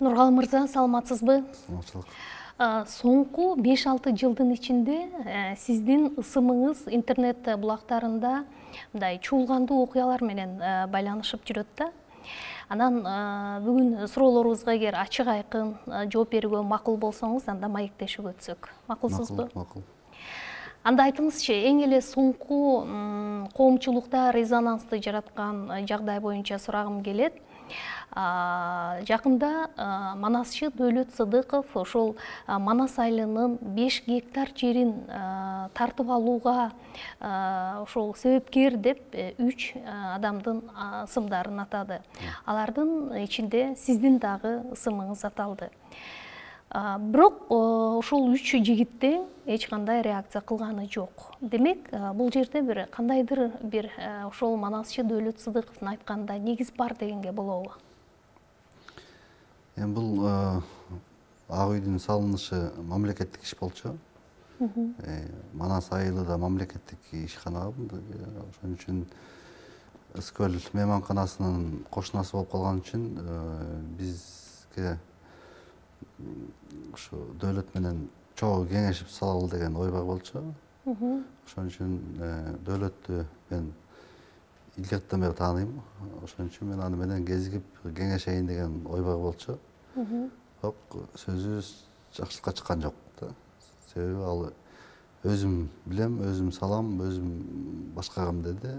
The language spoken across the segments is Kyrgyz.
Нургал мырза, саламатсызбы? Саламатчылык. Соңку 5-6 жылдын ичинде сиздин ысымыңыз интернет булактарында мындай чуулгандуу окуялар менен байланышып жүрөт да. Анан бүгүн суроолорубузга эгер ачык айкын жооп берүүгө макул болсоңуз, анда маектешип өтсөк. Макулсузбу? Макул. Анда айтыңызчы, эң эле соңку коомчулукта резонансты жараткан жагдай боюнча сурагым келет. Жакында Манасчы Дөөлөт Сыдыков ошол Манас айылынын 5 гектар жерин тартып алууга ошол себепкер деп 3 адамдын ысымдарын атады. Алардын ичинде сиздин дагы ысымыңыз аталды. Бирок ошол 3 жигиттин эч кандай реакция кылганы жок. Демек, бул жерде бир кандайдыр бир ошол Манасчы Дөөлөт Сыдыковдун айтканында негиз бар дегенге болобу? Эми бул ак үйдүн салынышы мамлекеттик иш болчу. Манас айылы да мамлекеттик ишкана. Ошон үчүн Ыскөл мейманканасынын кошунасы болуп калган үчүн бизге ушу дөөлөт менен чогуу кеңешип салалы деген ой бар болчу. Ошон үчүн дөөлөттү мен илгертен бери тааныйм. Ошон үчүн мен аны менен кезигип кеңешейин деген ой бар болчу. Бирок сөзүбүз жакшылыкка чыккан жок да. Себеби ал өзүм билем, өзүм салам, өзүм башкарам деди.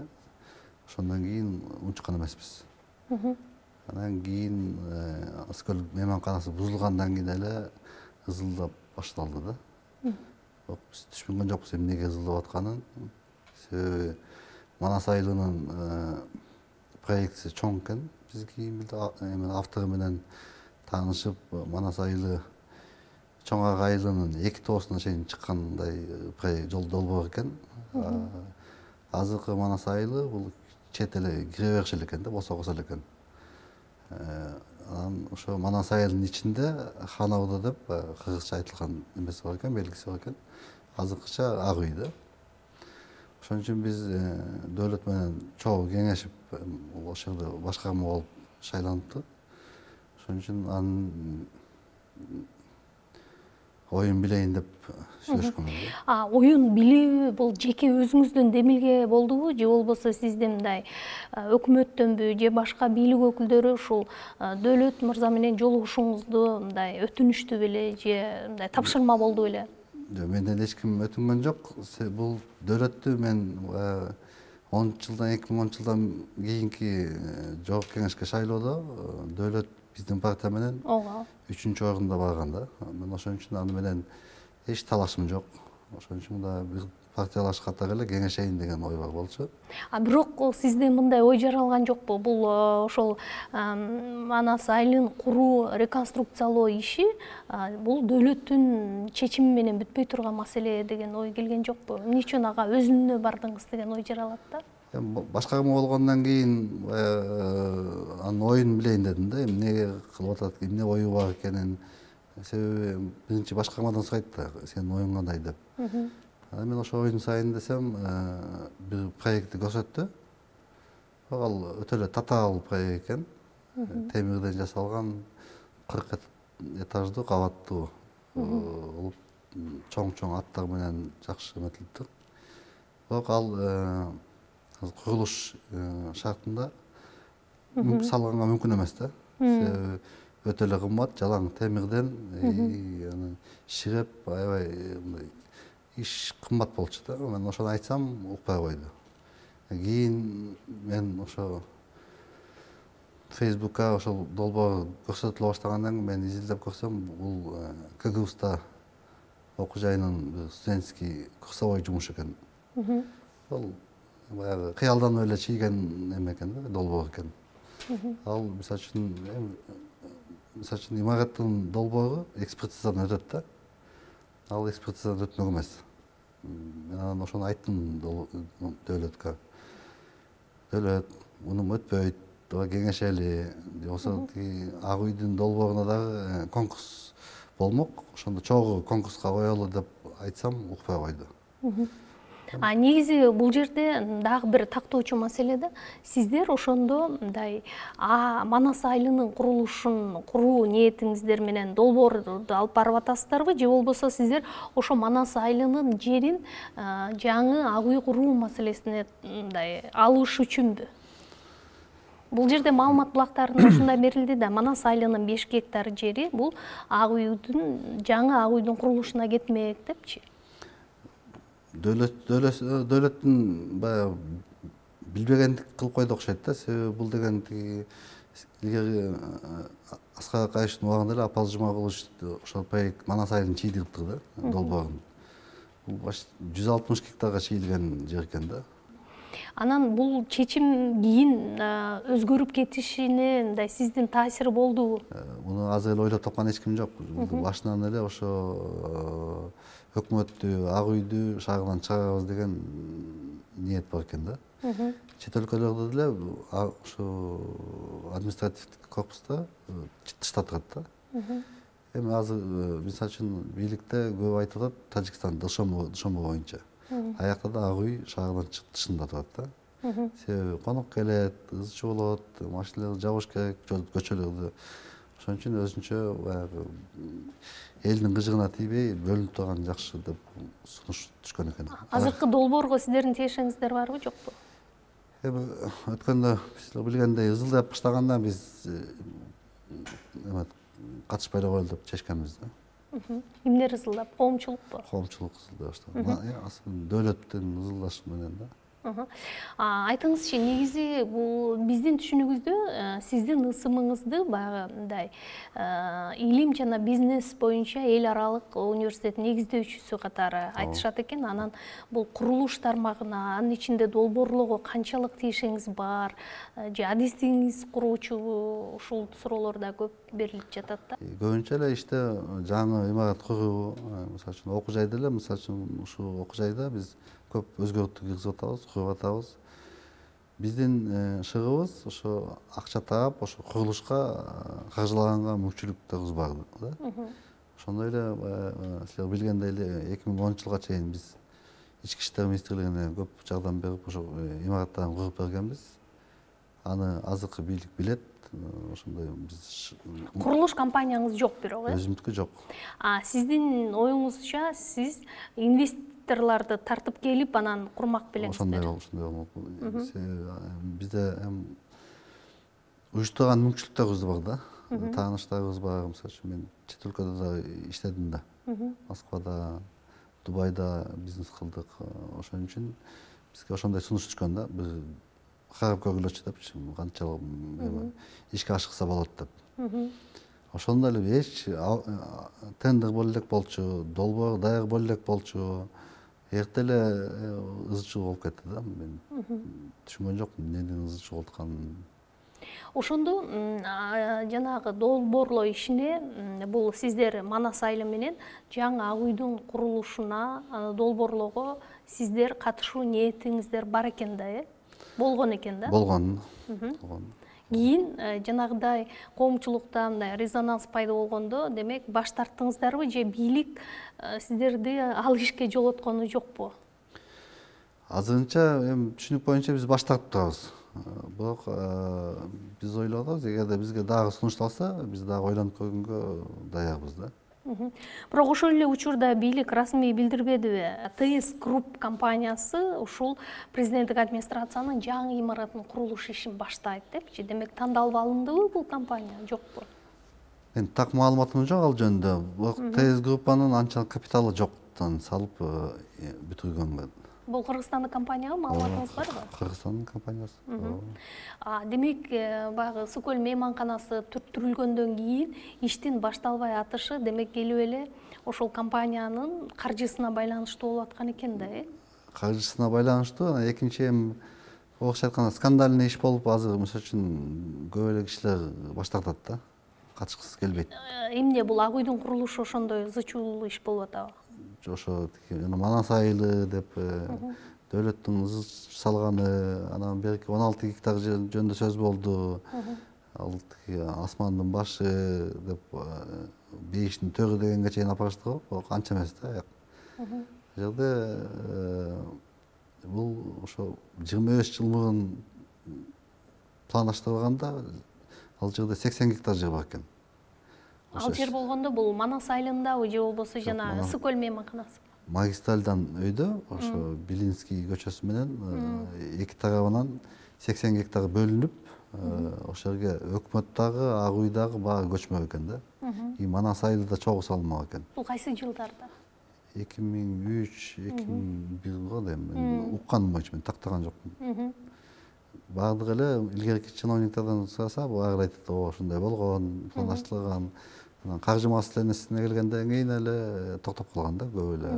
Ошондон кийин унчуккан эмеспиз. Анан кийин Ыскөл мейманканасы бузулгандан кийин эле ызылдап башталды да. Бирок биз түшүнгөн жокпуз эмнеге ызылдап атканын. Себеби Манас айылынын проектиси чоң экен. Биз кийин автору менен таанышып, Манас айылы чоң ак айылынын 2 тоосуна чейин чыккандай жол долбоор экен. Азыркы Манас айылы бул чет эле кире бериши экен да, босогосо экен. Анан ошо Манас айылынын ичинде Ханауда деп кыргызча айтылган эмеси бар экен, белгиси бар экен. Азыркыча ак үй да. Ошон үчүн биз дөөлөт менен чогуу кеңешип, ошол жерде башкарма болуп шайланыптык. Ошон үчүн анын оюн билейин деп сүйлөшкөнбүз. Оюн билүү бул жеке өзүңүздүн демилге болдубу, же болбосо сиздин мындай өкмөттөнбү же башка бийлик өкүлдөрү ушул дөөлөт мырза менен жолугушууңузду мындай өтүнүштү беле же мындай тапшырма болду беле? Жок, менден эч ким өтүнгөн жок. Бул дөөлөттү мен 2010 жылдан кийинки жогорку кеңешке шайлоодо дөөлөт биздин партия менен 3-чү орунда барган да. Мен ошон үчүн аны менен эч талашым жок. Ошон үчүн да бир партиялаш катары эле кеңешейин деген ой бар болчу. Бирок сизде мындай ой жаралган жокпу? Бул ошол Манас айылын куруу, реконструкциялоо иши бул дөөлөттүн чечими менен бүтпөй турган маселе деген ой келген жокпу? Эмне үчүн ага өзүнө бардыңыз деген ой жаралат да? Башкарма болгондон кийин анын оюн билейин дедим да, эмне кылып атат, эмне ою бар экенин. Себеби биринчи башкармадан сурайт да, сенин оюң кандай деп. Анан мен ошо оюн сайын десем, бир проектти көрсөттү. Ал өтө эле татаал проект экен. Темирден жасалган 40 этаждуу кабаттуу болуп, чоң аттар менен жакшы эметилиптир. Бирок ал курулуш шартында салганга мүмкүн эмес да. Себеби өтө эле кымбат, жалаң темирден аны ширеп, аябай иш кымбат болчу да. Мен ошону айтсам, укпай койду. Кийин мен ошо Facebook'ка ошол долбоор көрсөтүлө баштагандан кийин мен изилдеп көрсөм, бул КГУста окуу жайынын студенческий курсовой жумуш экен. Ал баягы кыялданып эле чийген эме экен да, долбоор экен. Ал мисалы үчүн имараттын долбоору экспертизадан өтөт да. Ал экспертизадан өтмөк эмес. Мен анан ошону айттым дөөлөткө. Дөөлөт, мунун өтпөйт, кеңешели, болсо ак үйдүн долбооруна дагы конкурс болмок. Ошондо чогуу конкурска коелу деп айтсам, укпай койду. Негизи бул жерде дагы бир тактоочу маселе да. Сиздер ошондо мындай Манас айылынын курулушун куруу ниетиңиздер менен долбоорду алып барып атасыздарбы, же болбосо сиздер ошо Манас айылынын жерин жаңы ак үй куруу маселесине мындай алыш үчүнбү? Бул жерде маалымат булактарында ушундай берилди да, Манас айылынын 5 гектар жери бул жаңы ак үйдүн курулушуна кетмек депчи. Дөлөттүн баягы билбегендик кылып койду окшойт да. Себеби бул деген илгери Аскар Акаевичтин убагында эле Апал Жумагулович ошол проект Манас айылын чийдириптир да, долбоорун. Бул 160 гектарга чийилген жер экен да. Анан бул чечим кийин өзгөрүп кетишине мындай сиздин таасири болдубу? Муну азыр эле ойлоп тапкан эч ким жок. Башынан эле ошо өкмөттү, ак үйдү шаарынан чыгарабыз деген ниет бар экен да. Чет өлкөлөрдө деле ошо административдик корпуста тыштап турат да. Эми азыр мисалы үчүн бийликте көп айтып атат, Тажикстан Дылшомбо боюнча. Аякта да ак үй шаардан тышында турат да. Себеби конок келет, ыз чуу болот, машиналарды жабыш керек, көчөлөрдү. Ошон үчүн өзүнчө баягы элдин кыжыгына тийбей бөлүнүп турган жакшы деп сунуш түшкөн экен. Азыркы долбоорго сиздердин тиешеңиздер барбы, жокпу? Эми өткөндө сиздер билгендей ызылдап баштаганда биз катышпай эле коелу деп чечкенбиз да. Кимдер ызылдап? Коомчулукпу? Коомчулук ызылдай баштаган. Дөлөттүн ызылдашы менен да. Айтыңызчы, негизи бул биздин түшүнүгүздө сиздин ысымыңызды баягы мындай илим жана бизнес боюнча эл аралык университет негиздөөчүсү катары айтышат экен. Анан бул курулуш тармагына, анын ичинде долбоорлоого канчалык тиешеңиз бар, же адистигиңиз куруучубу, ушул суроолор да көп берилип жатат да. Көбүнчө эле иште жаңы имарат куруу, мисалы үчүн окуу жайда эле, мисалы үчүн ушул окуу жайда биз көп өзгөртүү киргизип атабыз, куруп атабыз. Биздин шыгыбыз ошо акча таап, ошо курулушка каржылаганга мүмкүнчүлүктөрүбүз бар да. Ошондой эле силер билгендей эле 2010-жылга чейин биз Ички иштер министрлигине көп жардам берип, ошо имараттарын куруп бергенбиз. Аны азыркы бийлик билет. Ошондой биз курулуш компанияңыз жок бирок, өзүмдүкү жок. Сиздин оюңузча сиз инвесторлорду тартып келип анан курмак белеңиздер. Ошондой болмок. Бизде уюштурган мүмкүнчүлүктөрүбүз бар да. Тааныштарыбыз бар. Мисалы үчүн мен чет өлкөдө да иштедим да. Москвада, Дубайда бизнес кылдык. Ошон үчүн бизге ошондой сунуш түшкөн да. Бир карап көргүлөчү депчи, канчалык ишке ашыкса болот деп. Ошондо эле эч тендер боло элек болчу, долбоор даяр боло элек болчу. Эрте эле ызы чуу болуп кетти да. Мен түшүнгөн жокмун эмнеден ызы чуу болуп атканын. Ошондо жанагы долбоорлоо ишине бул сиздер Манас айылы менен жаңы ак үйдүн курулушуна, аны долбоорлоого сиздер катышуу ниетиңиздер бар экен да, болгон экен да? Болгон. Кийин жанагыдай коомчулукта мындай резонанс пайда болгондо, демек баш тарттыңыздарбы же бийлик сиздерди ал ишке жолоткону жокпу? Азырынча эми түшүнүк боюнча биз баш тартып турабыз. Бирок биз ойлоп атабыз, эгерде бизге дагы сунушталса, биз дагы ойлонуп көргөнгө даярбыз да. Бирок ошол эле учурда бийлик расмий билдирбедиби? ТС Групп компаниясы ушул президенттик администрациянын жаңы имараттын курулуш ишин баштайт депчи. Демек тандалып алындыбы бул компания, жокпу? Мен так маалыматым жок ал жөнүндө. Бирок ТС Группанын анчалык капиталы жоктон салып бүтүргөн. Бул Кыргызстандын компаниябы, маалыматыңыз барбы? Кыргызстандын компаниясы. Демек, баягы Су көл мейманканасы түртүрүлгөндөн кийин иштин башталбай атышы, демек келип эле ошол компаниянын каржысына байланыштуу болуп аткан экен да, Каржысына байланыштуу. Экинчи эми орусча айтканда скандальный иш болуп, азыр мисалы үчүн көп эле кишилер баш тартат да. Катышкысы келбейт. Эмне бул ак үйдүн курулушу ошондой ызы чуулуу иш болуп атабы? Ошо Манас айылы деп дөлөттүн ызы салганы, анан берки 16 гектар жөнүндө сөз болду. Ал асмандын башы деп бейиштин төрү дегенге чейин апарыштыр го, бирок анча эмес да. Ал жерде бул ошо 25 жыл мурун пландаштырылганда ал жерде 80 гектар жер бар экен. Ал жер болгондо бул Манас айылындабы же болбосо жана Ысык көл мейманканасы? Магистральдан өйдө ошо Белинский көчөсү менен эки тарабынан 80 гектар бөлүнүп, ошол жерге өкмөт дагы, Ак Үй дагы баары көчмөк экен да. И Манас айылы да чогуу салынмак экен. Бул кайсы жылдарда? 2003-2001 го дейм. Мен укканым боюнча мен тактаган жокмун. Баардык эле илгерки чиновниктардан сураса, баары айтат, ошондой болгон, пландаштырылган. Каржы маселесине келгенден кийин эле токтоп калган да, көп эле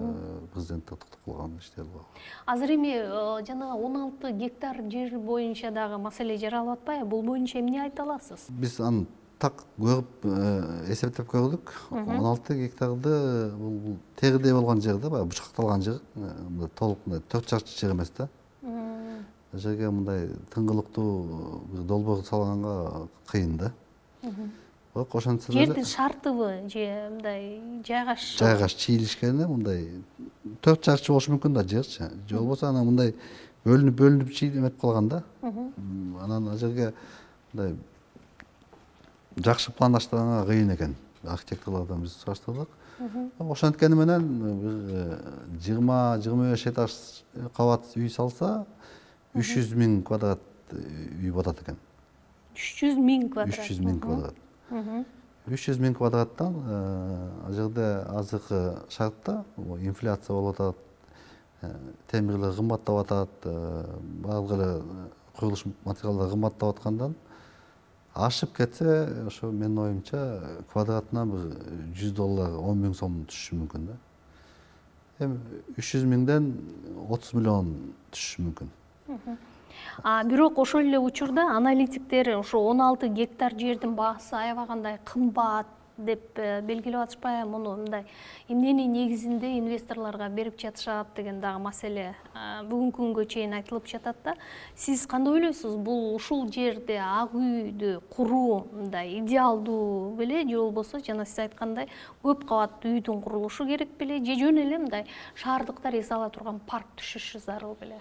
президенттер токтоп калган иштер бар. Азыр эми жана 16 гектар жер боюнча дагы маселе жаралып атпайбы? Бул боюнча эмне айта аласыз? Биз аны так көрүп эсептеп көрдүк. 16 гектарды бул тегидей болгон жер да, баягы бучакталган жер. Толук 4 чарчы жер эмес да. Жерге мындай тыңгылыктуу бир долбоор салганга кыйын да. Бирок ошентсе деле жердин шартыбы же мындай жайгаш чийилишкени мындай 4 чарчы болушу мүмкүн да жерчи. Же болбосо анан мындай бөлүнүп чийилип калган да. Анан ал жерге мындай жакшы пландаштырганга кыйын экен. Архитекторлордон биз сураштырдык. Ошенткени менен бир 20-25 этаж кабат үй салса 300 000 квадрат үй болот экен. 300 000 квадрат. 300 000 квадрат. 300 000 квадраттан ал жерде азыркы шартта инфляция болуп атат, темирлер кымбаттап атат, баардык эле курулуш материалдары кымбаттап аткандан ашып кетсе, ошо менин оюмча квадратына бир $100, 10 000 сом түшүшү мүмкүн да. Эми 300 000ден 30 миллион түшүшү мүмкүн. Бирок ошол эле учурда аналитиктер ошо 16 гектар жердин баасы аябагандай кымбат деп белгилеп атышпайбы? Муну мындай эмненин негизинде инвесторлорго берип жатышат деген дагы маселе бүгүнкү күнгө чейин айтылып жатат да. Сиз кандай ойлойсуз? Бул ушул жерде Ак Үйдү куруу мындай идеалдуу беле же болбосо жана сиз айткандай көп кабаттуу үйдүн курулушу керек беле же жөн эле мындай шаардыктар эс ала турган парк түшүшү зарыл беле?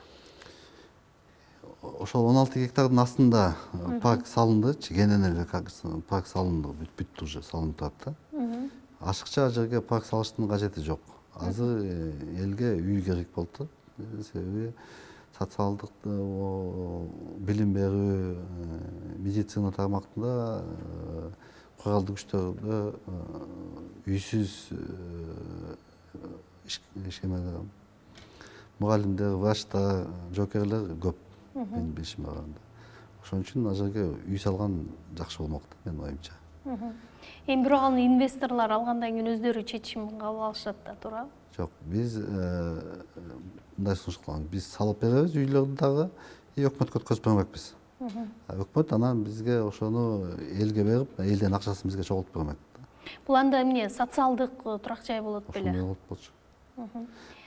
Ошол 16 гектардын астында парк салынды, кенен эле парк салынды, бүт уже салынып турат да. Ашыкча жерге парк салыштын кажети жок. Азыр элге үй керек болуп турат. Себеби социалдык билим берүү, медицина тармактында куралдуу күчтөрдө үйсүз мугалимдер, врачтар, жоокерлер көп. Мен билишим барганда. Ошон үчүн ал жерге үй салган жакшы болмок да, менин оюмча. Эми бирок аны инвесторлор алгандан кийин өздөрү чечим кабыл алышат да, туурабы? Жок, биз мындай сунуш кыламыз. Биз салып беребиз үйлөрдү дагы, өкмөткө өткөзүп бермекпиз. Өкмөт анан бизге ошону элге берип, элдин акчасын бизге чогултуп бермек. Бул анда эмне, социалдык турак жай болот беле? Ошондой болот болчу.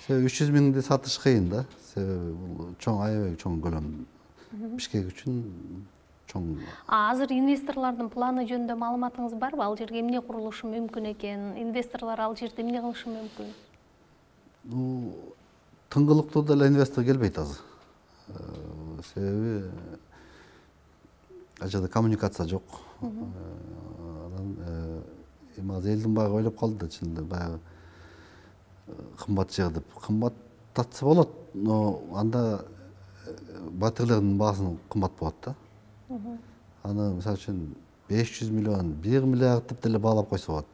Себеби 300 000ди сатыш кыйын да. Себеби бул чоң, аябай чоң көлөм. Бишкек үчүн чоң. Азыр инвесторлордун планы жөнүндө маалыматыңыз барбы? Ал жерге эмне курулушу мүмкүн экен? Инвесторлор ал жерде эмне кылышы мүмкүн? Бул тыңгылыктуу деле инвестор келбейт азыр. Себеби ал жерде коммуникация жок. Анан эми азыр элдин баары ойлоп калды да, чынында баягы кымбат жер деп. Кымбаттатса болот, но анда батирлердин баасын кымбат болот да. Аны мисалы үчүн 500 миллион, 1 миллиард деп деле баалап койсо болот.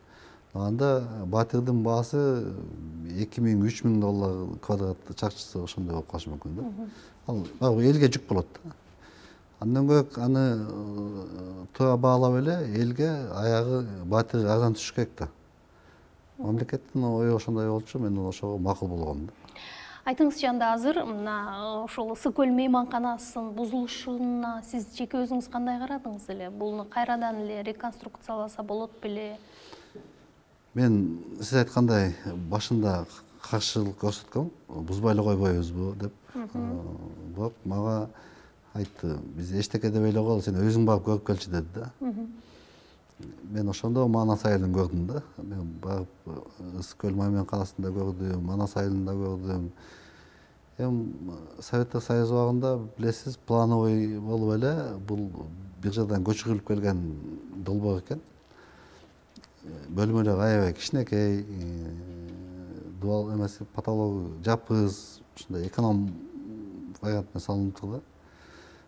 Анда батирдин баасы $2000–3000 квадрат чарчысы ошондой болуп калышы мүмкүн да. Ал баягы элге жүк болот да. Андан көбүк аны туура баалап эле элге аягы батир арзан түшүш керек да. Мамлекеттин ою ошондой болчу, мен ошого макул болгом да. Айтыңызчы, анда азыр мына ошол Ысык көл мейманканасынын бузулушуна сиз жеке өзүңүз кандай карадыңыз эле? Буну кайрадан эле реконструкцияласа болот беле? Мен сиз айткандай башында каршылык көрсөткөм, бузбай эле койбойбузбу деп. Бирок мага айтты, биз эчтеке деп ойлогол, сен өзүң барып көрүп келчи деди да. Мен ошондо Манас айылын көрдүм да. Мен барып Ысык көл мейманканасында көрдүм, Манас айылында көрдүм. Эми Советтик Союз убагында билесиз, плановый болуп эле бул бир жадан көчүрүлүп келген долбоор экен. Бөлмөлөр аябай кичинекей, дуал эмес, потологу жапыз, ушундай эконом вариантына салыныптыр да.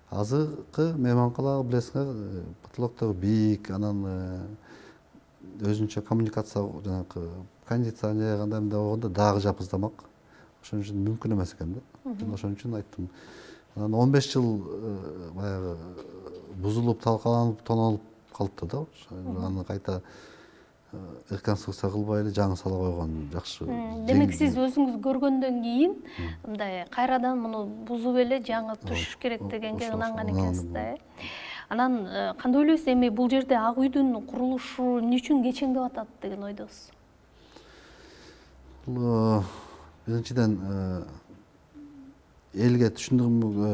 Азыркы мейманкалар билесиңер, потолоктор бийик, анан өзүнчө коммуникация, жанагы кондиционер андай мындай болгондо дагы жапыздамак. Ошон үчүн мүмкүн эмес экен да. Ошон үчүн айттым. Анан 15 жыл баягы бузулуп, талкаланып, тонолуп калыптыр да. Аны кайта реконструкция кылбай эле жаңы сала койгон жакшы. Демек сиз өзүңүз көргөндөн кийин мындай кайрадан муну бузуп эле жаңы түшүш керек дегенге ынанган экенсиз да. Анан кандай ойлойсуз, эми бул жерде Ак үйдүн курулушу эмне үчүн кечеңдеп атат деген ойдосуз? Бул биринчиден элге түшүндүрүүгө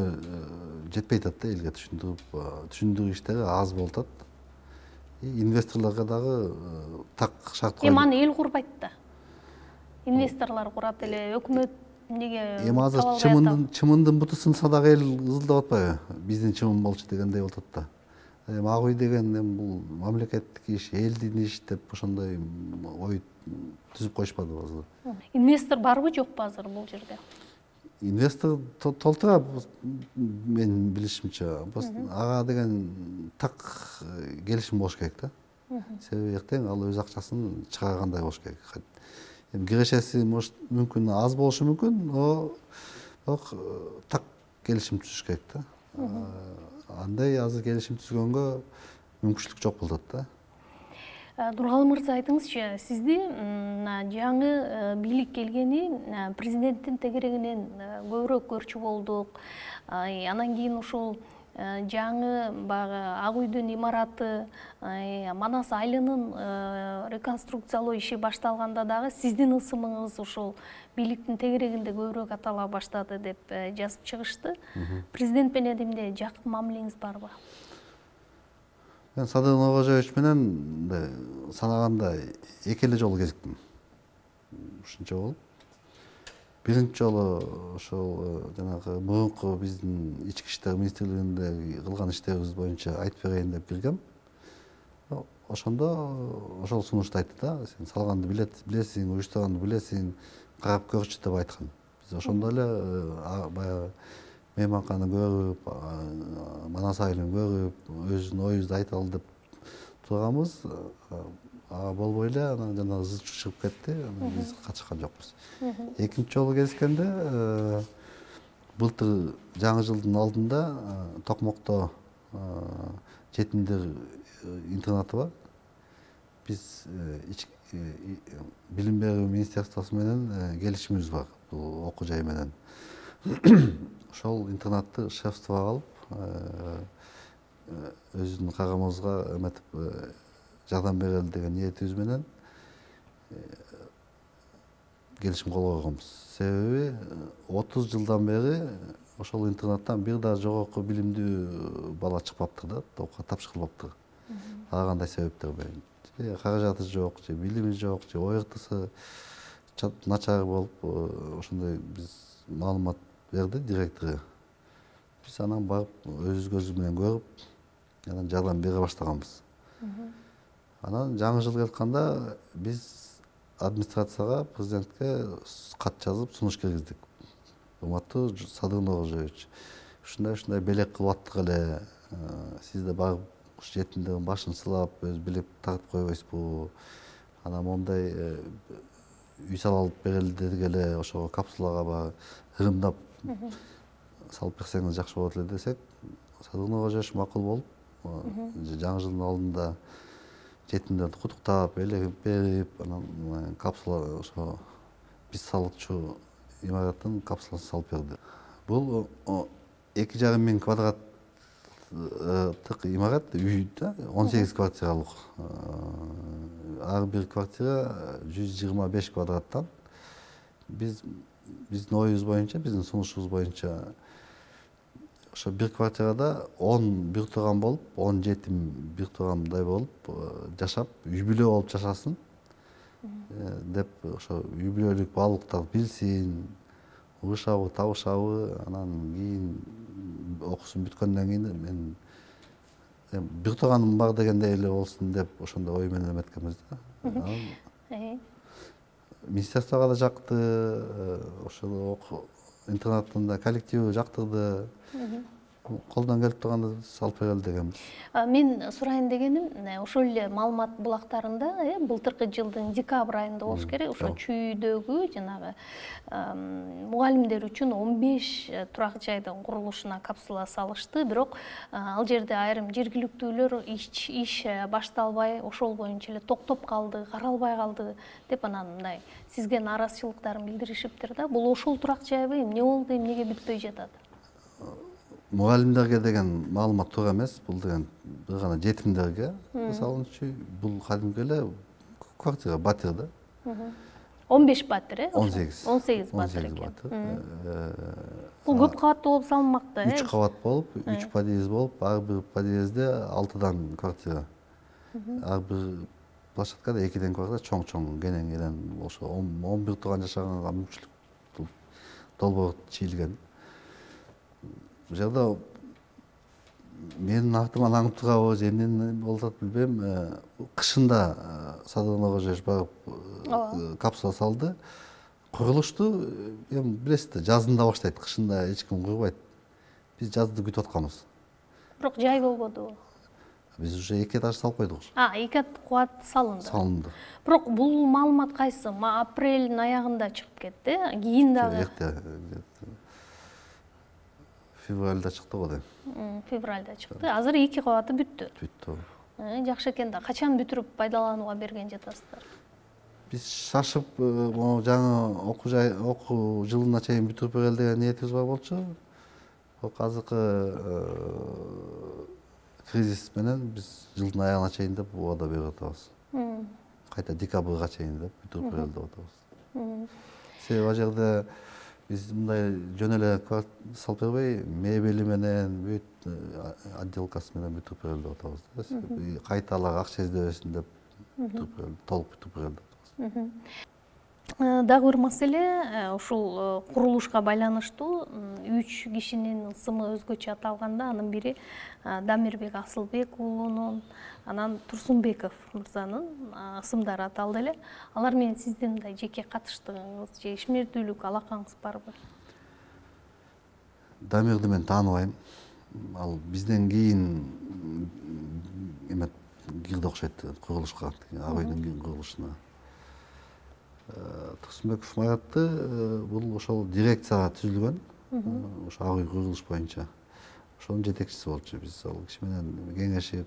жетпей атат да, элге түшүндүрүү иштери аз болуп атат. Инвесторлорго дагы так шарт коюлат. Эми аны эл курбайт да. Инвесторлор курат эле, өкмөт эмнеге? Эми азыр чымындын буту сынса дагы эл ызылдап атпайбы? Биздин чымын болчу дегендей болуп атат да. Эми Ак үй деген эми бул мамлекеттик иш, элдин иш деп ошондой ой түзүп коюшпадыбы азыр? Инвестор барбы, жокпу азыр бул жерде? Инвестор толтура, менин билишимче. Ага деген так келишим болуш керек да. Себеби эртең ал өз акчасын чыгаргандай болуш керек. Эми кирешеси мүмкүн аз болушу мүмкүн, бирок так келишим түзүш керек да. Андай азыр келишим түзгөнгө мүмкүнчүлүк жок болуп атат да. Нургалы мырза, айтыңызчы, сизди жаңы бийлик келгени президенттин тегерегинен көбүрөөк көрчү болдук. Анан кийин ушул жаңы баягы Ак үйдүн имараты, Манас айылынын реконструкциялоо иши башталганда дагы сиздин ысымыңыз ушул бийликтин тегерегинде көбүрөөк атала баштады деп жазып чыгышты. Президент менен эмне жакын мамилеңиз барбы? Мен Садыр Нуркожоевич менен санаганда эки эле жолу кезиктим. Ушунча болуп. Биринчи жолу ошол жанагы мурунку биздин ички иштер министрлигинде кылган иштерибиз боюнча айтып берейин деп киргем. Ошондо ошол сунушту айтты да. Сен салганды билесиң, уюштурганды билесиң, карап көрчү деп айткан. Биз ошондо эле баягы мейманканы көрүп, Манас айылын көрүп, өзүнүн оюбузду айталы деп турганбыз. Болбой эле, анан жана ызы чыгып кетти, анан биз катышкан жокпуз. Экинчи жолу кезишкенде былтыр жаңы жылдын алдында Токмокто жетимдер интернаты бар. Биз билим берүү министерствосу менен келишимибиз бар, бул окуу жай менен. Ошол интернатты шефствого алып, өзүнүн кааgamыбызга эметип жардам берели деген ниетибиз менен келишим кол койгонбуз. Себеби 30 жылдан бери ошол интернаттан бир да жогорку билимдүү бала чыкпаптыр да, топко тапшырылбаптыр. Ага кандай себептер менен? Же каражаты жок, же билими жок, же ОРТсы начар болуп, ошондой биз маалымат берди директору. Биз анан барып өз көзүбүз менен көрүп, анан жардам бере баштаганбыз. Анан жаңы жыл келатканда биз администрацияга, президентке кат жазып сунуш киргиздик. Урматтуу Садыр Нуркожоевич, ушундай белек кылып аттык эле. Сиз да барып жетимдердин башын сылап, өз билип тартып койбойсузбу? Анан мондай үй салып берели дедик эле, ошого капсулага бар ырымдап салып берсеңиз жакшы болот эле десек, Садыр Нуркожоевич макул болуп, жаңы жылдын алдында жетимдерди куттуктап, элегип берип, анан капсула ошо биз салчу имараттын капсуласын салып берди. Бул 2,5 миң квадраттык имарат, үй да, 18 квартиралык. Ар бир квартира 125 квадраттан. Биздин оюбуз боюнча, биздин сунушубуз боюнча ошо бир квартирада 10 бир турган болуп, 10 жетим бир тургандай болуп жашап, үй бүлө болуп жашасын деп ошо үй бүлөлүк баалуулуктарды билсин, угушабы, табышабы, анан кийин окуусун бүткөндөн кийин мен бир тууганым бар дегендей эле болсун деп ошондой ой менен эметкенбиз да. Министерствого да жакты, ошол интернаттын коллективи жактырды. Колдон келип турганда салып берели дегенбиз. Мен сурайын дегеним, ошол эле маалымат булактарында былтыркы жылдын декабрь айында болуш керек, ошо чүйдөгү жанагы мугалимдер үчүн 15 турак жайдын курулушуна капсула салышты, бирок ал жерде айрым жергиликтүүлөр иш башталбай, ошол боюнча эле токтоп калды, каралбай калды деп анан мындай сизге нааразычылыктарын билдиришиптир да. Бул ошол турак жайбы, эмне болду, эмнеге бүтпөй жатат? Мугалимдерге деген маалымат туура эмес. Бул деген бир гана жетимдерге салынчу. Бул кадимки эле квартира, батир да. 15 батир, 18 батир экен. Бул көп кабаттуу болуп салынмак да. 3 кабат болуп, 3 подъезд болуп, ар бир подъездде 6дан квартира. Ар бир площадкада 2ден квартира, чоң-чоң кенен ошо 11 тууган жашаганга мүмкүнчүлүк долбоор чийилген. Бул жерде менин артыман аңып турабы же эмне болуп атат билбейм. Кышында Садыр Нуркожоевич барып капсула салды. Курулушту эми билесиз, жазында баштайт, кышында эч ким курбайт. Биз жазды күтүп атканбыз. Бирок жай болбоду. Биз уже 2 этаж салып койдук. 2 кабат салынды. Салынды. Бирок бул маалымат кайсы? Апрелдин аягында чыгып кетти. Кийин дагы февральда чыкты го дейм. Февральда чыкты. Азыр 2 кабаты бүттү. Бүттү. Жакшы экен да. Качан бүтүрүп пайдаланууга берген жатасыздар? Биз шашып, жаңы окуу жылына чейин бүтүрүп берели деген ниетибиз бар болчу. Бирок азыркы кризис менен биз жылдын аягына чейин деп убада берип атабыз. Кайта декабрга чейин деп бүтүрүп берели деп атабыз. Себеби ал жерде биз мындай жөн эле салып бербей, мебели менен, бүт отделкасы менен бүтүрүп берели деп атабыз. Кайталак акча издебесин деп бүтүрүп берели, толук бүтүрүп берели деп атабыз. Дагы бир маселе, ушул курулушка байланыштуу 3 кишинин ысымы өзгөчө аталганда, анын бири Дамирбек Асылбек уулунун, анан Турсунбеков мырзанын ысымдары аталды эле. Алар менен сиздин мындай жеке катыштыгыңыз же ишмердүүлүк алакаңыз барбы? Дамирди мен тааныбайм. Ал бизден кийин кирди окшойт курулушка, абайдын курулушуна. Турсунбеков Маратты бул ошол дирекцияга түзүлгөн, ошо абый курулуш боюнча. Ошонун жетекчиси болчу. Биз ал киши менен кеңешип,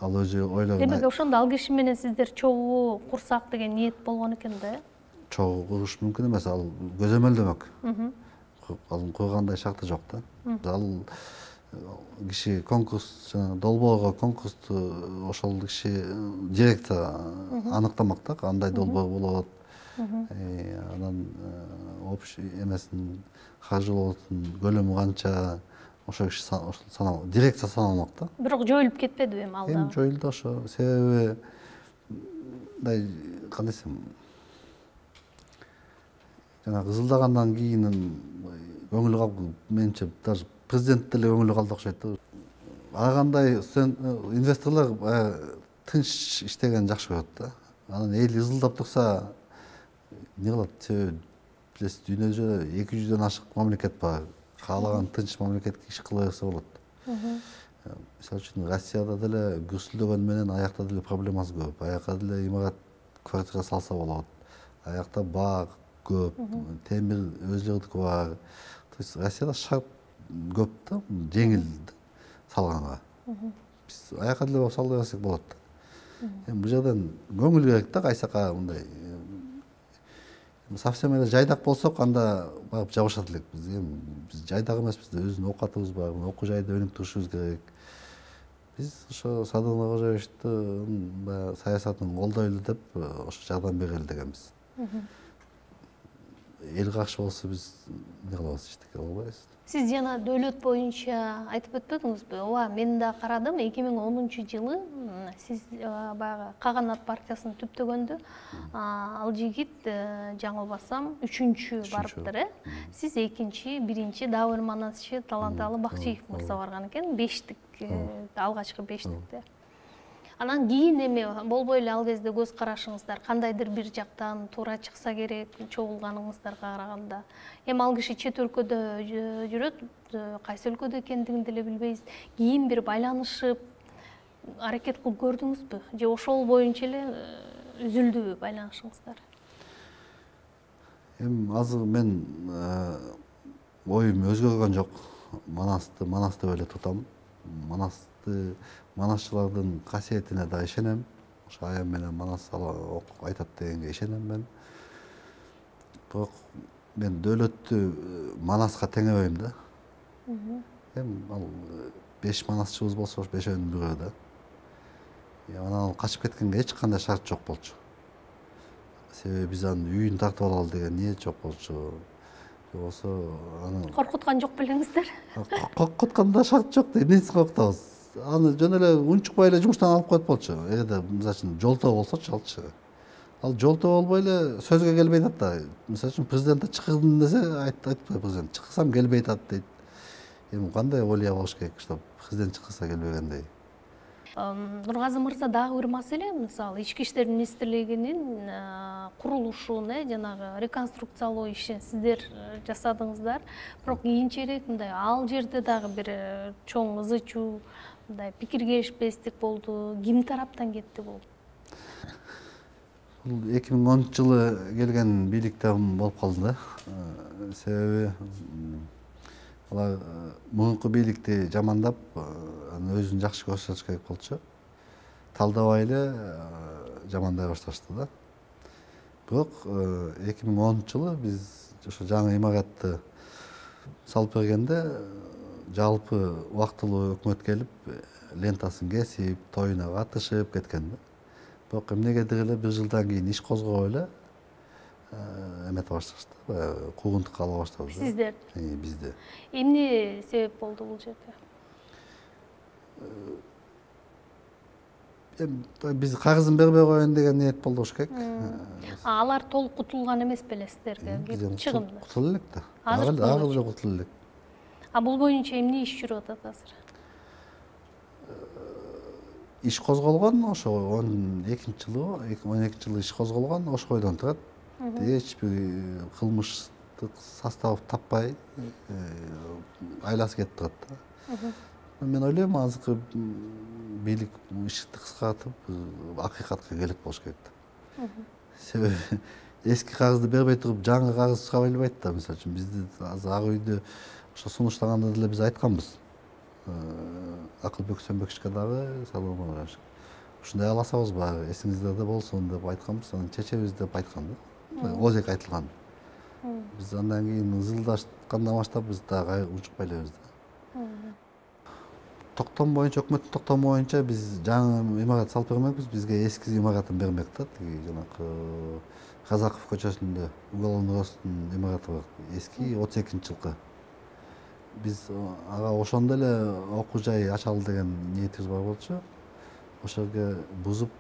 ал өзү ойлогон. Демек, ошондо ал киши менен сиздер чогуу курсак деген ниет болгон экен да? Чогуу куруш мүмкүн эмес, ал көзөмөлдөмөк. Ал кургандай шарты жок да. Ал киши конкурс, жана долбоорго конкурсту ошол киши директор аныктамак да, кандай долбоор болот. Анан общий эмесин каржылоосунун көлөмү канча, ошол киши дирекция саналмак да. Бирок жоюлуп кетпедиби эми ал да? Эми жоюлду ошо. Себеби мындай кандай десем, жана кызылдагандан кийин көңүлү калып, менимче даже президент деле көңүлү калды окшойт да. Ар кандай инвесторлор тынч иштеген жакшы көрөт да. Анан эл ызылдап турса, эмне кылат? Билесиз, дүйнөдө 200дөн ашык мамлекет бар. Каалаган тынч мамлекетке иш кыла берсе болот. Мисалы үчүн Россияда деле гүрсүлдөгөн менен аякта деле проблемасы көп. Аякта деле имарат, квартира салса болот. Аякта бак көп, темир өзүлөрдүкү бар. То есть Россияда шарт көп да, жеңил салганга. Биз аякка деле салып берсек болот. Эми бул жерден көңүл керек да, кайсака мындай. Совсем эле жайдак болсок, анда барып жабышат элек. Биз жайдак эмеспиз, өзүнүн оокатыбыз бар, окуу жайда өнүп турушубуз керек. Биз ошо Садыр Нуркожоевичтин саясатын колдойлу деп ошо жардам берели дегенбиз. Эл каршы болсо биз эмне кылабыз, эчтеке кыла албайбыз. Сиз жана дөөлөт боюнча айтып өтпөдүңүзбү? Ооба, мен да карадым, 2010 жылы Сиз баягы Каганат партиясын түптөгөндө ал жигит жаңылбасам 3-чү барыптыр, Сиз 2-чи, 1-чи Дабыр Манасчы Таланталы Бакчиев мырза барган экен, 5тик, алгачкы 5тикте. Анан кийин эме болбой эле ал кезде көз карашыңыздар кандайдыр бир жактан туура чыкса керек чогулганыңыздарга караганда. Эми ал киши чет өлкөдө жүрөт, кайсы өлкөдө экендигин деле билбейбиз. Кийин бир байланышып аракет кылып көрдүңүзбү? Же ошол боюнча эле үзүлдүбү байланышыңыздар? Эми азыр мен оюм өзгөргөн жок. Манасты эле тутам. Манасчылардын касиетине да ишенем. Ошо аям менен Манас айтат дегенге ишенем мен. Бирок мен дөөлөттү Манаска теңебейм да. Эми ал 5 манасчыбыз болсо, 5-өөнүн бирөө да. Анан ал качып кеткенге эч кандай шарт жок болчу. Себеби биз анын үйүн тартып алалы деген ниет жок болчу. Болсо аны Коркуткан жок белеңиздер? Коркутканда шарт жок да, эмнесин коркутабыз? Аны жөн эле унчукпай эле жумуштан алып коет болчу. Эгерде мисалы үчүн жолтоо болсочу алчы. Ал жолтоо болбой эле сөзгө келбей атат да. Мисалы үчүн президентте чыкырдым десе, айтпайт президент. Чыксам келбей атат дейт. Эми кандай олия болуш керек, чтобы президент чыкса келбегендей. Нургазы мырза дагы бир маселе, мисалы Ички иштер министрлигинин курулушун, жанагы реконструкциялоо ишин сиздер жасадыңыздар. Бирок кийинчерээк мындай ал жерде дагы бир чоң ызы-чуу, мындай пикир келишпестик болду. Ким тараптан кетти бул? Бул 2010-жылы келген бийликте болуп калды да. Себеби алар мурунку бийликти жамандап, өзүн жакшы көрсөтүш керек болчу. Талдабай эле жамандай башташты да. Бирок 2010-жылы биз ошо жаңы имаратты салып бергенде жалпы убактылуу өкмөт келип, лентасын кесип, тоюна катышып кеткен да. Бирок эмнегедир эле 1 жылдан кийин иш козгобой эле эмете башташты, куугунтукка ала баштады. Сиздер? Бизде. Эмне себеп болду бул жерде? Биз кагызын бербей коеюн деген ниет болду болуш керек. Алар толук кутулган эмес беле сиздерге? Чыгымдар. Кутулуп элек да. Азыр Агыл жок кутулуп элек. Бул боюнча эмне иш жүрүп атат азыр? Иш козголгон, ошо 2012-жылы иш козголгон, ошо бойдон турат. Эч бир кылмыштык состав таппай айласы кетип турат да. Мен ойлойм, азыркы бийлик ишти кыскартып, акыйкатка келет болуш керек да. Себеби эски кагызды бербей туруп, жаңы кагыз сурабай элбайт да. Мисалы үчүн бизди азыр ак үйдө ошо сунуштаганда деле биз айтканбыз. Акылбек Сөнбекчке дагы салам алыш. Ушундай аласабыз баары, эсиңиздерде болсун деп айтканбыз, анан чечебиз деп айткан да. Озек айтылган. Биз андан кийин ызылдашкандан баштап биз дагы учукпай элебиз да. Токтом боюнча, өкмөттүн токтому боюнча биз жаңы имарат салып бермекпиз, бизге эски имаратын бермек да. Жанакы Казаков көчөсүндө уголовный розысктын имараты бар, эски 32-жылкы. Биз ага ошондо эле окуу жай ачалы деген ниетибиз бар болчу. Ошол жерге бузуп,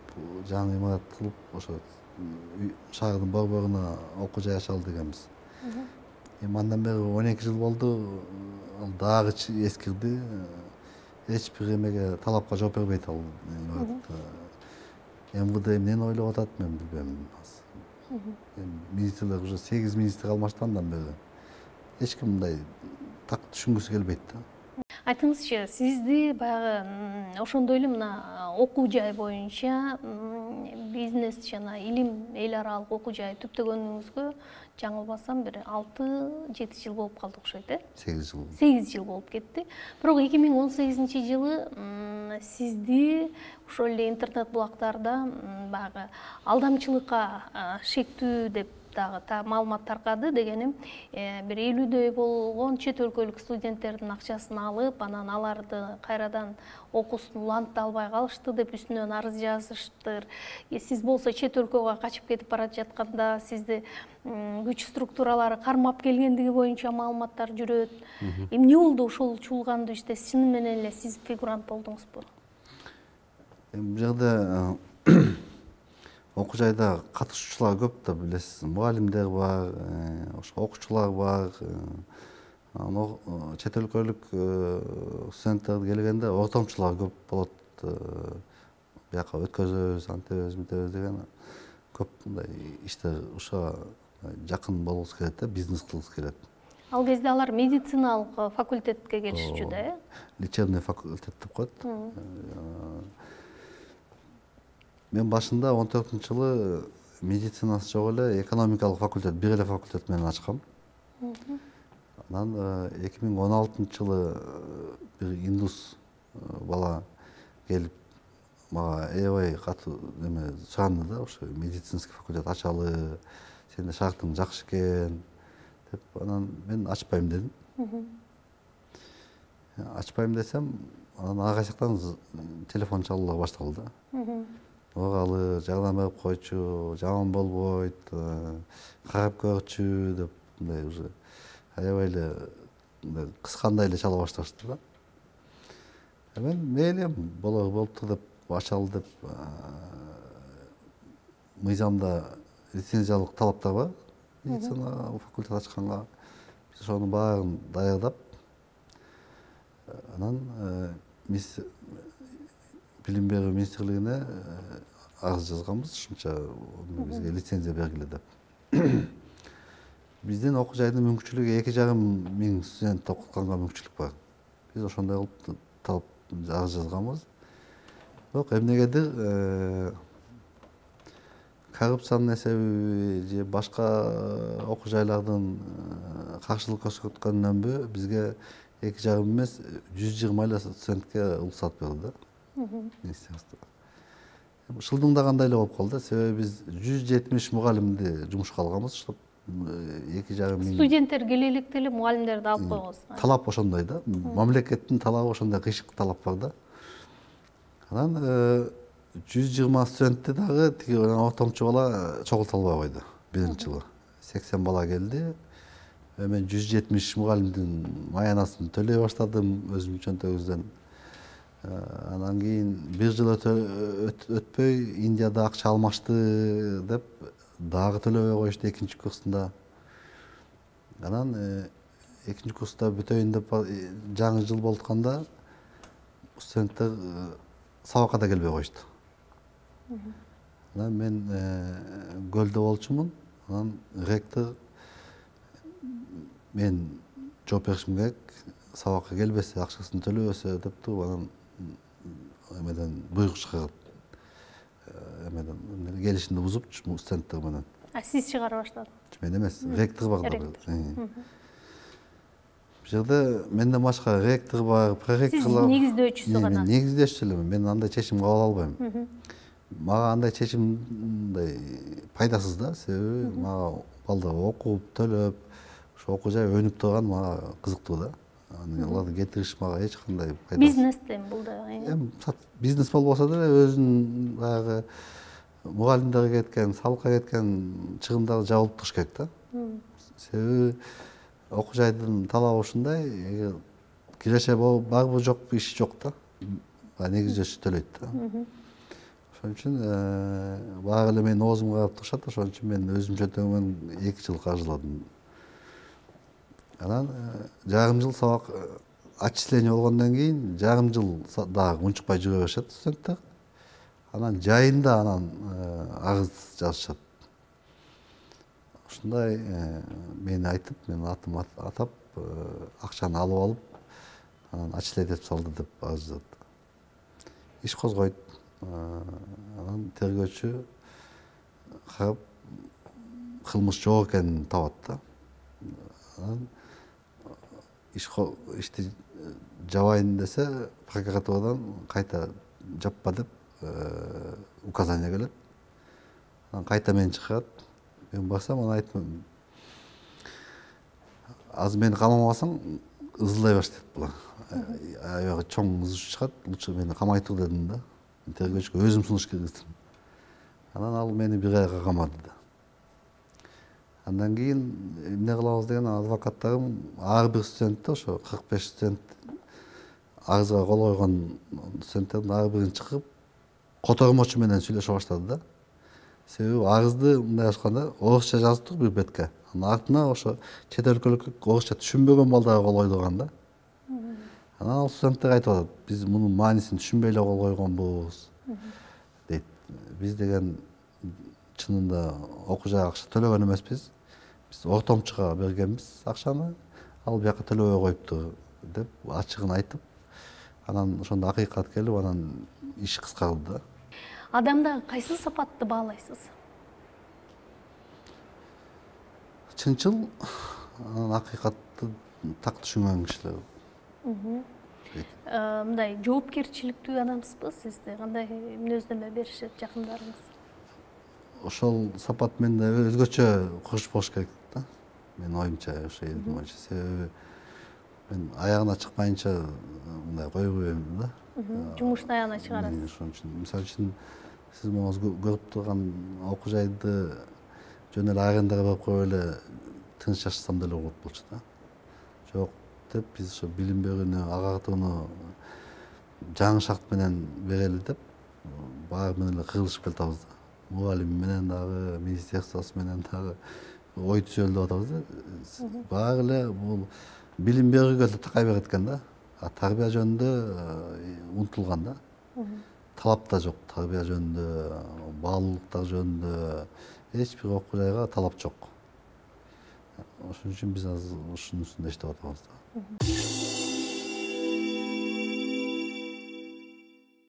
жаңы имарат кылып, ошо шаардын борборуна окуу жай ачалы дегенбиз. Эми андан бери 12 жыл болду, ал дагы эскирди. Эч бир эмеге талапка жооп бербейт ал имарат. МВД эмнени ойлоп атат, мен билбейм. Министрлер уже 8 министр алмаштандан бери эч ким мындай так түшүнгүсү келбейт да. Айтыңызчы, сизди баягы ошондой эле мына окуу жай боюнча бизнес жана илим эл аралык окуу жай түптөгөнүңүзгө жаңылбасам бир 6-7 жыл болуп калды окшойт, 8 жыл. 8 жыл болуп кетти. Бирок 2018-жылы сизди ошол эле интернет булактарда баягы алдамчылыкка шектүү деп дагы маалымат таркады. Дегеним, бир 50дөй болгон чет өлкөлүк студенттердин акчасын алып, анан аларды кайрадан окуусун улантып албай калышты деп үстүнөн арыз жазышыптыр. Сиз болсо чет өлкөгө качып кетип бара жатканда сизди күч структуралары кармап келгендиги боюнча маалыматтар жүрөт. Эмне болду ошол чуулганды иште чын менен эле сиз фигурант болдуңузбу? Бул жерде окуу жайда катышуучулар көп да, билесиз. Мугалимдер бар, ошо окуучулар бар. Чет өлкөлүк студенттер келгенде ортомчулар көп болот. Бияка өткөзөбүз, антебиз, мынтебиз деген көп мындай иштер ушуга жакын болгусу келет да, бизнес кылгысы келет. Ал кезде алар медициналык факультетке келишчү да, э? Лечебный факультет деп коет. Мен башында 14-жылы медицинасы жок эле экономикалык факультет, бир эле факультет менен ачкам. Анан 2016-жылы бир индус бала келип мага аябай катуу суранды да, ошо медицинский факультет ачалы, сенде шартың жакшы экен деп. Анан мен ачпайм дедим. Ачпайм десем, анан ага жактан телефон чалуулар башталды да. Огалы жардам берип койчу, жаман болбойт, карап көрчү деп, мындай уже аябай эле кыскандай эле чала башташты да. Мен мейли болуптур деп, ачалы деп, мыйзамда лицензиялык талаптар бар. Медицина факультет ачканга биз ошонун баарын даярдап, анан билим берүү министрлигине арыз жазганбыз, ушунча бизге лицензия бергиле деп. Биздин окуу жайдын мүмкүнчүлүгү 2,5 миң студент окутканга мүмкүнчүлүк бар. Биз ошондой кылып талап арыз жазганбыз. Бирок эмнегедир коррупциянын эсеби же башка окуу жайлардын каршылык көрсөткөнүнөнбү бизге 2,5 эмес 120 эле студентке уруксат берди да, министерство. Шылдыңда кандай эле болуп калды, себеби биз 170 мугалимди жумушка алганбыз, уштап 2,5 миң студенттер келе электе эле мугалимдерди алып койгонсуз. Талап ошондой да, мамлекеттин талабы ошондой, кыйшык талап бар да. Анан 120 студентти дагы тиги ортомчу бала чогулта албай койду биринчи жылы. 80 бала келди. Мен 170 мугалимдин маянасын төлөй баштадым өзүмдүн чөнтөгүбүздөн. Анан кийин бир жыл өтпөй Индияда акча алмашты деп дагы төлөбөй коюшту экинчи курсунда. Анан экинчи курста бүтөйүн деп жаңы жыл болутканда студенттер сабакка да келбей коюшту. Анан мен көлдө болчумун. Анан ректор мен жооп беришим керек, сабакка келбесе, акчасын төлөбөсө деп туруп, анан эмеден буйрук чыгарып, эмеден келишимди бузуп студенттер менен. Сиз чыгара баштадыңыз? Мен эмес, ректор бар да. Бул жерде менден башка ректор бар, проректорлор. Сиз негиздөөчүсү гана? Негиздөөчүсү элемин. Мен андай чечим кабыл албайм. Мага андай чечим мындай пайдасыз да, себеби мага балдар окуп, төлөп, ошо окуу жай өнүп турган мага кызыктуу да. Аларды кетириш мага эч кандай пайдасыз. Бизнестен бул да. Бизнес болбосо деле өзүнүн баягы мугалимдерге кеткен, салыкка кеткен чыгымдарды жабылып туруш керек да. Себеби окуу жайдын талабы ушундай, киреше барбы жокпу иш жок да. Негиздөөчү төлөйт да. Ошон үчүн баары эле менин оозумга карап турушат, ошон үчүн мен өзүм чөнтөгүмөн 2 жыл каржыладым. Анан жарым жыл сабак отчисление болгондон кийин жарым жыл дагы унчукпай жүрө беришет студенттер. Анан жайында арыз жазышат. Ушундай мени айтып, мен атым атап, акчаны алып алып, анан отчисление этип салды деп арыз жазат. Иш козгойт. Анан тергөөчү карап кылмыш жок экенин табат да. Анан ишти жабайын десе, прокуратурадан кайта жаппа деп указание келет. Анан кайта мени чакырат. Мен барсам, анан айтам, азыр мени камамасаң ызылдай баштайт булар. Аябай чоң ызы чыгат, лучше мени камай тур дедим да. Тергөөчүгө өзүм сунуш киргиздим. Анан ал мени 1 айга камады да. Андан кийин эмне кылабыз деген адвокаттарым ар бир студентти, ошо 45 студент арызга кол койгон студенттердин ар бирин чакырып, котормочу менен сүйлөшө баштады да. Себеби арызды мындай ачканда орусча жазыптык бир бетке. Анын артына ошо чет өлкөлүк орусча түшүнбөгөн балдар кол койду анда. Анан ал студенттер айтып атат, биз мунун маанисин түшүнбөй эле кол койгонбуз дейт. Биз деген чынында окуу жайга акча төлөгөн эмеспиз. Биз ортомчуга бергенбиз акчаны, ал бияка төлөбөй коюпту деп ачыгын айтып, анан ошондо акыйкат келип, анан иш кыскарды да. Адамдагы кайсы сапатты баалайсыз? Чынчыл, анан акыйкатты так түшүнгөн кишилер. Мындай жоопкерчиликтүү адамсызбы? Сизде кандай мүнөздөмө беришет жакындарыңыз? Ошол сапат менде өзгөчө куруш болуш керек да. Менин оюмча, ошо элдин боюнча. Себеби мен аягына чыкпайынча мындай койбойм да. Жумуштун аягына чыгарасыз. Ошон үчүн, мисалы үчүн, сиз моңуз көрүп турган окуу жайды жөн эле арендага берип коюп эле тыныч жашасам деле болот болчу да. Жок деп, биз ошо билим берүүнү, агартууну жаңы шарт менен берели деп, баары менен эле кырылышып келатабыз да. Мугалим менен дагы, министерствосу менен дагы ой түзөлүп атабыз да. Баары эле бул билим берүүгө эле такай берет экен да. Тарбия жөнүндө унутулган да. Талап да жок, тарбия жөнүндө, баалуулуктар жөнүндө эч бир окуу жайга талап жок. Ошон үчүн биз азыр ушунун үстүндө иштеп атабыз да.